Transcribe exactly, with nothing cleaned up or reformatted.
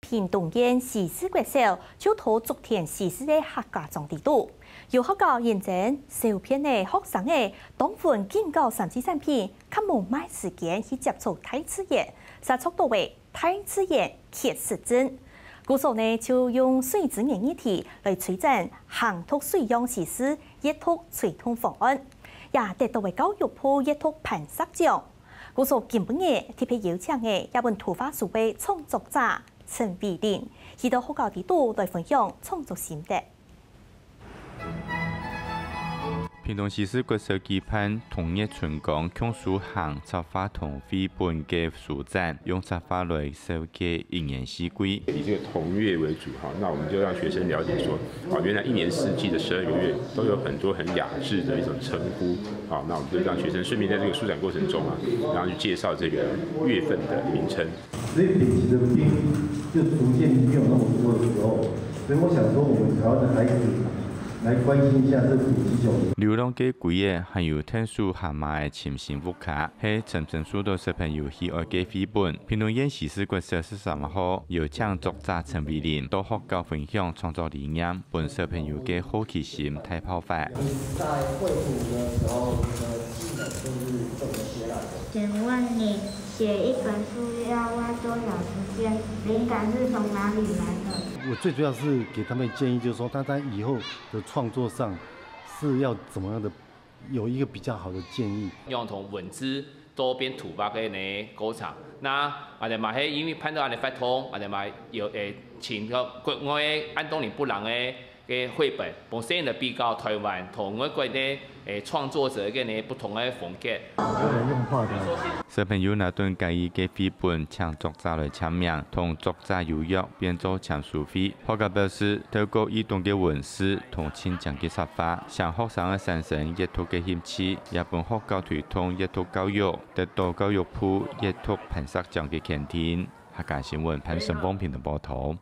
屏東縣西勢國小就討竹田西勢个客家庄底肚。有學校認證，小編个學生仔當分緊交三C產品，較無麼个時間去接觸大自然，煞著到个大自然缺失症。故所呢，就用水資源議題來推展行讀水樣西勢閱讀推動方案，也得到个教育部閱讀磐石獎。故所今晡日特別邀請个這本圖畫書个創作者陳偉林，去到學校底肚來分享創作心得。屏東西勢國小舉辦「同月春光共書行」插畫同繪本个書展，用插畫來紹介一年四季。以這個同月為主哈，那我們就讓學生了解說，啊，原來一年四季的十二個月都有很多很雅致的一種稱呼，啊，那我們就讓學生順便在這個書展過程中啊，然後去介紹這個月份的名稱。所以北極的冰就逐漸沒有那麼多的時候，所以我想說，我們台灣的孩子來關心一下這北極熊。流浪个龜仔還有𢯭手蛤蟆个尋親屋下，係深深受到小朋友喜愛个繪本。屏東縣西勢國小十三號邀請作者陳偉林到學校分享創作理念，分小朋友个好奇心大爆發。在繪圖的時候，你的技能就是怎麼學來的？請問你寫一本書要花多少時間？靈感是從哪裡來的？我最主要是給他們建議，就是說他在以後的創作上是要怎麼樣的，有一個比較好的建議。用同文字做變圖畫个呢過程。那𠊎兜嘛係因為辦到恁呢活動，𠊎兜嘛有，誒，請到國外个安東尼布朗个个繪本，本身就比較台灣同外國个，誒，創作者个呢不同个風格。小朋友拿等家己个繪本，請作者來簽名，同作者有約，變做簽書會。學校表示，透過移動个文字同親情个插畫，將學生个產生閱讀个興趣，也分學校推動閱讀教育，得到教育部閱讀磐石獎个肯定。客家新聞潘順峰屏東報導。